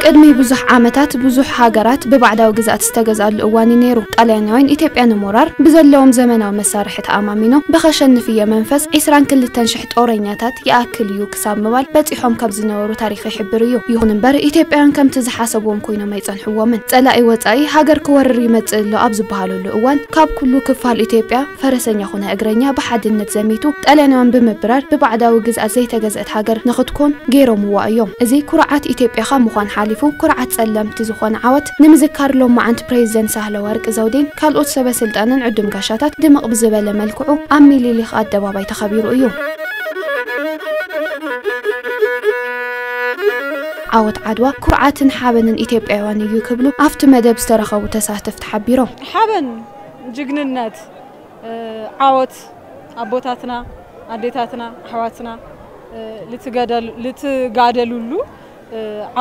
ቅድሚ ብዙሕ ዓመታት ብዙሕ ሃገራት ብባዕዳዊ ግዝኣት ዝተገዝኣሉ እዋን እዩ ነይሩ። ጣልያናውያን ኢትዮጵያ ንምውራር ብዘለዎም ዘመናዊ መሳርሒ ተኣማሚኖም ብኸሸንፍዮ መንፈስ ዒስራን ክልተን ሽሕ ጦረኛታት ይኣክል እዩ ክሳብ ምባል በጺሖም ካብ ዝነበሩ ታሪኽ ይሕብር እዩ። ይኹን እምበር ኢትዮጵያውያን ከምቲ ዝሓሰብዎም ኮይኖም ኣይጸንሕዎምን። ጸላኢ ወጻኢ ሃገር ክወርር ይመጽእ ኣሎ ኣብ ዝበሃለሉ እዋን ካብ ኩሉ ክፋል ኢትዮጵያ ፈረሰኛ ኮነ እግረኛ ብሓድነት ዘሚቱ ጣልያናውያን ብምብራር ብባዕዳዊ ግዝኣት ዘይተገዝአት ሃገር ንኽትኮን ገይሮምዋ እዮም። እዚ ኩርዓት ኢትዮጵያኻ ምዃን ሓሊፉ ኩርዓት ጸለምቲ ዝኾነ ዓወት ንምዝካር ሎማዓንቲ ፕሬዚደንት ሳህለ ወርቅ ዘውዴን ካልኦት ሰበ ስልጣንን ዕዱም ጋሻታት ድምቕ ብዝበለ መልክዑ ኣብ ሚሊሊኽ ኣደባባይ ተኸቢሩ እዩ። ዓወት ዓድዋ ኩርዓትን ሓበንን ኢትዮጵያውያን እዩ ክብሉ ኣብቲ መደብ ዝተረኸቡ ተሳተፍቲ ሓቢሮም። ሓበን፣ ጅግንነት፣ ዓወት ኣቦታትና፣ ኣዴታትና፣ ኣሕዋትና ልትጋደሉሉ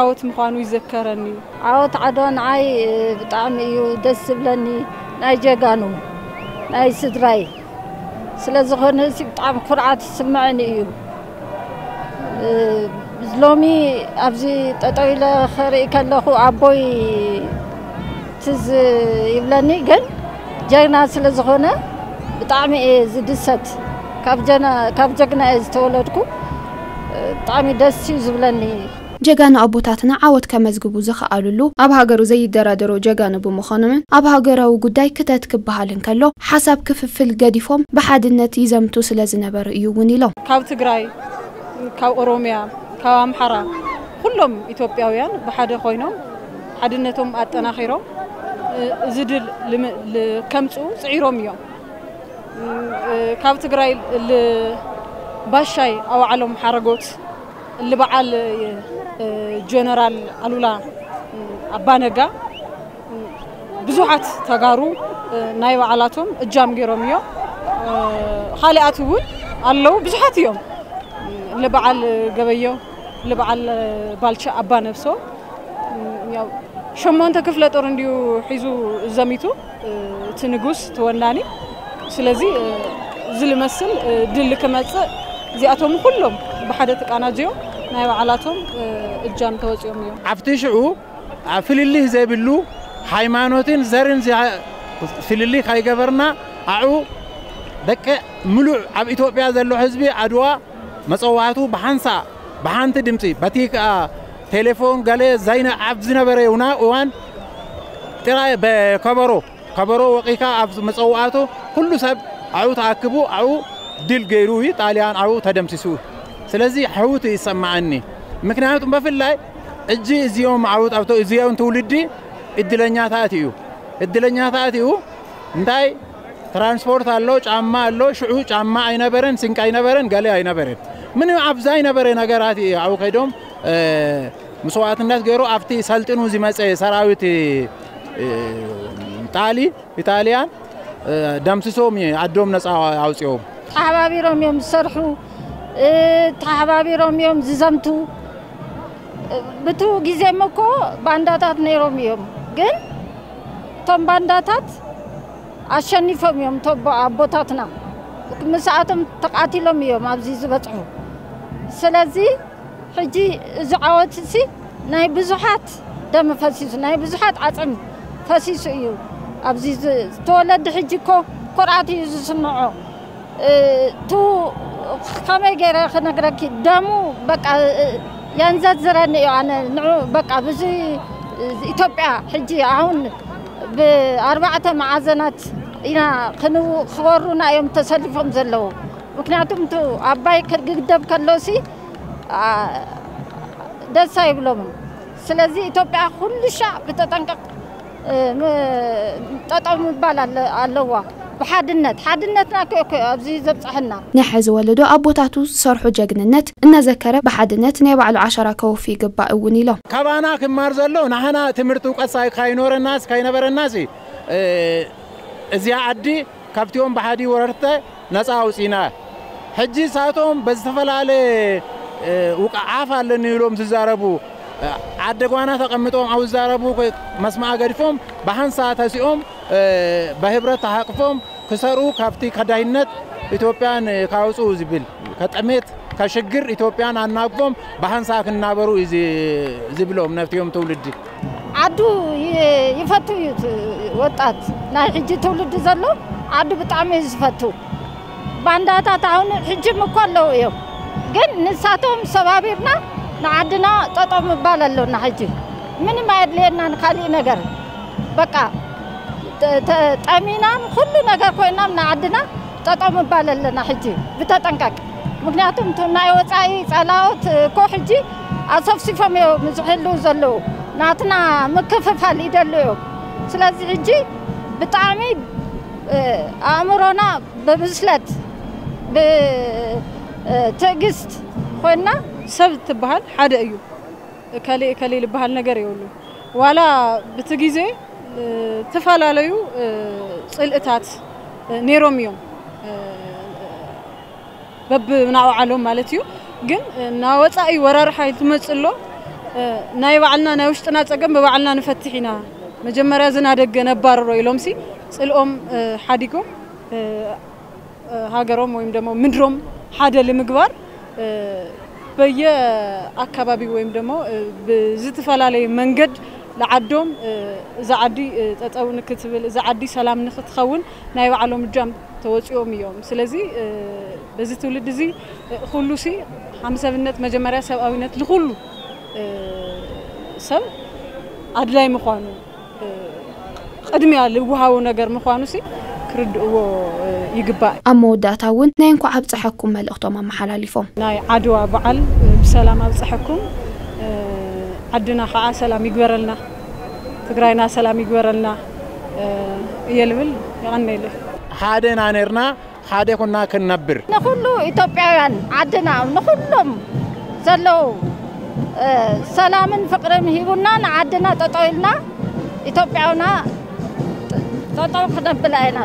ዓወት ምዃኑ ይዘከረኒ። ዓወት ዓድዋ ንዓይ ብጣዕሚ እዩ ደስ ዝብለኒ። ናይ ጀጋኑ ናይ ስድራይ ስለ ዝኾነ እዚ ብጣዕሚ ኩርዓት ይስምዐኒ እዩ። ሎሚ ኣብዚ ጠጠው ኢለ ክርኢ ከለኹ ኣቦይ ትዝ ይብለኒ፣ ግን ጀግና ስለ ዝኾነ ብጣዕሚ እየ ዝድሰት። ካብ ጀና-፣ ካብ ጀግና እየ ዝተወለድኩ። ብጣዕሚ ደስ እዩ ዝብለኒ። ጀጋኑ ኣቦታትና ዓወት ከመዝግቡ ዝኸኣሉሉ፣ ኣብ ሃገሩ ዘይደራደሩ ጀጋኑ ብምዃኖምን ኣብ ሃገራዊ ጉዳይ ክተት ክበሃል እንከሎ ሓሳብ ክፍፍል ገዲፎም ብሓድነት ይዘምቱ ስለ ዝነበሩ እዩ እውን ኢሎም። ካብ ትግራይ፣ ካብ ኦሮሚያ፣ ካብ ኣምሓራ ኩሎም ኢትዮጵያውያን ብሓደ ኮይኖም ሓድነቶም ኣጠናኺሮም እዚ ድል ልም-፣ ል-፣ ከምፅኡ ፅዒሮም እዮም። ካብ ትግራይ ል-፣ ባሻይ ኣውዓሎም ሓረጎት፣ ልበዓል ጀነራል ኣሉላ ኣባነጋ፣ ብዙሓት ተጋሩ ናይ ባዕላቶም እጃም ገይሮም እዮም። ካልኣት እውን ኣለዉ፣ ብዙሓት እዮም። ልበዓል ገበየው፣ ልበዓል ባልቻ ኣባ ነብሶ፣ ያው ሸሞንተ ክፍለ ጦር እንዲዩ ሒዙ ዘሚቱ፣ እቲ ንጉስ፣ እቲ ወናኒ። ስለዚ እዚ ልመስል ድል ክመጽእ እዚኣቶም ኩሎም ብሓደ ተቃናጅዮም ናይ ባዕላቶም እጃም ተወጺኦም እዮም። ኣብቲ ሽዑ ኣብ ፍልልይ ዘይብሉ ሃይማኖትን ዘርን ዝያ-፣ ፍልልይ ካይገበርና፣ ኣዑ ደቂ ምሉእ ኣብ ኢትዮጵያ ዘሎ ህዝቢ ዓድዋ መጸዋዕቱ ብሓንሳ፣ ብሓንቲ ድምጺ፣ በቲ ከኣ ቴሌፎን ገለ ዘይነ-፣ ኣብ ዝነበረ እውና-፣ እዋን ጥራይ በከበሮ፣ ከበሮ ወቂካ ኣብ መጸዋዕቱ ኩሉ ሰብ ኣዑ ተኣክቡ፣ ኣዑ ድል ገይሩ እዩ፣ ጣልያን ኣዑ ተደምሲሱ። ስለዚ ሕውት ይሰማዓኒ። ምክንያቱም በፍላይ እጂ እዚኦም ዓውት ኣብቶ-፣ እዚኦም ትውልዲ እድለኛታት እዩ። እድለኛታት እዩ። እንታይ ትራንስፖርት ኣሎ፣ ጫማ ኣሎ። ሽዑ ጫማ ኣይነበረን፣ ስንቂ ኣይነበረን፣ ገለ ኣይነበረን። ምንም ኣብዛ ኣይነበረ ነገራት እዩ። ኣብኡ ከይዶም፣ እ፣ መስዋዕትነት ገይሩ ኣብቲ ሰልጥኑ ዝመጸ ሰራዊት፣ እ፣ ጣሊ፣ ኢጣልያን፣ እ፣ ደምስሶም እዩ ዓዶም ነጻ ኣውጽኦም። ተሓባቢሮም እዮም ዝሰርሑ፣ እ፣ ተሓባቢሮም እዮም ዝዘምቱ። ብቱ ግዜም እኮ ባንዳታት ነይሮም እዮም፣ ግን እቶም ባንዳታት ኣሸኒፎም እዮም። እቶም ኣቦታትና ምስኣቶም ተቃቲሎም እዮም ኣብዚ ዝበጽሑ። ስለዚ ሕጂ እዚ ዓወት እዚ ናይ ብዙሓት ደም ፈሲሱ፣ ናይ ብዙሓት ዓጽም ፈሲሱ እዩ። ኣብዚ ዝ-፣ ዝተወለደ ሕጂ እኮ ኩርዓት እዩ ዝስምዖ። እ፣ ቱ ከመይ ገይረ ክነግረኪ፣ ደሙ በቃ፣ እ፣ የንዘዝረኒ እዩ። ኣነ ንዑ በቃ ብዙ ኢትዮጵያ ሕጂ ኣሁን ብኣርባዕተ መዓዘናት ኢና ክንው-፣ ክወሩና እዮም ተሰሊፎም ዘለዉ። ምክንያቱም ቱ ኣባይ ክግደብ ከሎሲ፣ ኣ፣ ደስ ኣይብሎምን። ስለዚ ኢትዮጵያ ኩሉ ሻዕ ብተጠንቀቕ፣ እ፣ ም-፣ ጠጠው ምባል ኣለ-፣ ኣለዋ። ብሓድነት፣ ሓድነትና እኮ፣ እኮ ኣብዚ ዘብጽሐና። ናይ ሕዚ ወለዶ ኣቦታቱ ዝሰርሑ ጀግንነት እናዘከረ ብሓድነት ናይ ባዕሉ ዓሻራ ከወፊ ይግባእ እውን ኢሎም። ካባና ክማር ዘሎ ንሕና ትምህርቲ እውቀት ሳይ-፣ ካይኖረናስ፣ ካይነበረናስ፣ እ፣ እዚኣ ዓዲ ካብቲኦም ብሓዲ ወረርተ ነፃ ኣውፂና። ሕጂ ሳቶም በዝተፈላለየ፣ እ፣ ውቃ ዓፍ ኣለኒ ኢሎም ዝዛረቡ፣ እ፣ ዓደ ጓና ተቐምጦም ኣብ ዝዛረቡ ኮ-፣ መስማዕ ገዲፎም ብሓንሳ ተሲኦም፣ እ፣ በህብረት ተሓቅፎም ክሰርኡ፣ ካብቲ ከዳይነት ኢትዮጵያን ካውፅኡ ዝብል፣ ከጠሜት ከሽግር ኢትዮጵያን ኣናግፎም ብሃንሳ ክናበሩ እዩ ዚ- ዝብሎም ነፍትዮም ትውልዲ። ዓዱ ይ- ይፈቱ እዩ እቲ ወጣት። ናይ ሕጂ ትውልዲ ዘሎ ዓዱ ብጣዕሚ እዩ ዝፈቱ። ባንዳታት ኣሁን ሕጅም እኮ ኣለዉ እዮም፣ ግን ንሳቶም ሰባቢርና ንዓድና ጠጠው ምባል ኣሎና። ሕጂ ምንም ኣየድልየናን ካሊእ ነገር። በቃ ተ- ተ- ጠሚናን ኩሉ ነገር ኮይናም ንዓድና ጠጠው ምባል ኣለና። ሕጂ ብተጠንቀቅ፣ ምክንያቱም እቲ ናይ ወፃኢ ፀላኦት እኮ ሕጂ ኣሰፍሲፎም እዮም ዝሕልው ዘለዉ። ናትና ምክፍፋል ይደሉ እዮም። ስለዚ ሕጂ ብጣዕሚ ኣእምሮና ብብስለት ብትዕግስት ኮይና። ሰብ ትበሃል ሓደ እዩ። እከሌ እከሌ ልበሃል ነገር የብሉ። ዋላ ብቲ ግዜ ዝተፈላለዩ ፅልእታት ነይሮም እዮም፣ በብናውዓሎም ማለት እዩ። ግን ናወፃኢ ወራሪ ሓይል ትመፅእ ኣሎ። ናይ ባዕልና ናይ ውሽጥና ፀገም ብባዕልና ንፈትሕ ኢና፣ መጀመርያ ዝናደገ ነባርሮ ኢሎምሲ ፅልኦም ሓዲጎም ሃገሮም ወይም ደግሞ ምድሮም ሓደ ንምግባር በየ ኣካባቢ ወይም ደግሞ ብዝተፈላለየ መንገድ ለዓዶም እዛ ዓዲ ጠጠው ንክትብል፣ እዛ ዓዲ ሰላም ንክትኸውን ናይ ባዕሎም እጃም ተወፂኦም እዮም። ስለዚ በዚ ትውልድ እዚ ኩሉ ሲ ሃምሰብነት መጀመርያ ሰብኣዊነት ልኩሉ ሰብ ኣድላይ ምዃኑ ቅድሚያ ልወሃቡ ነገር ምዃኑ ሲ ክርድእዎ ይግባእ። ኣብ መወዳእታ እውን ናይ እንኳዕ ኣብፀሐኩም መልእኽቶም ኣመሓላሊፎም። ናይ ዓድዋ በዓል ብሰላም ኣብፀሐኩም፣ ዓድና ከዓ ሰላም ይግበረልና፣ ትግራይና ሰላም ይግበረልና እየ ልብል። የቐነየለይ። ሓደ ኢና ነርና፣ ሓደ ኩና ክንነብር። ንኩሉ ኢትዮጵያውያን ዓድና ንኩሎም ዘለዉ ሰላምን ፍቅርን ሂቡና ንዓድና ጠጠው ኢልና ኢትዮጵያውና ጠጠው ክነብላ ኢና።